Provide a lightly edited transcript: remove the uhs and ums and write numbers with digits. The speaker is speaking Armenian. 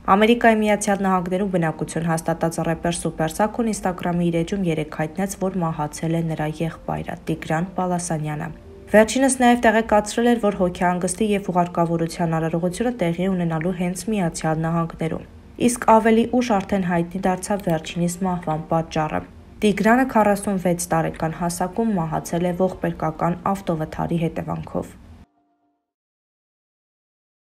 Ամերիկայի Միացյալ Նահանգներում բնակություն հաստատած ռեպեր Սուպեր Սաքուն Ինստագրամի իր էջում երեկ հայտնեց, որ մահացել է նրա եղբայրը՝ Տիգրան Պալասանյանը։ Վերջինս նաև տեղեկացրել էր, որ հոգեհանգստի և ուղարկավորության արարողությունը տեղի ունենալու հենց Միացյալ Նահանգներում։ Իսկ ավելի ուշ արդեն հայտնի դարձավ վերջինիս մահվան պատճառը։ Տիգրանը 46 տարեկան հասակում մահացել է ողբերգական ավտովթարի հետևանքով։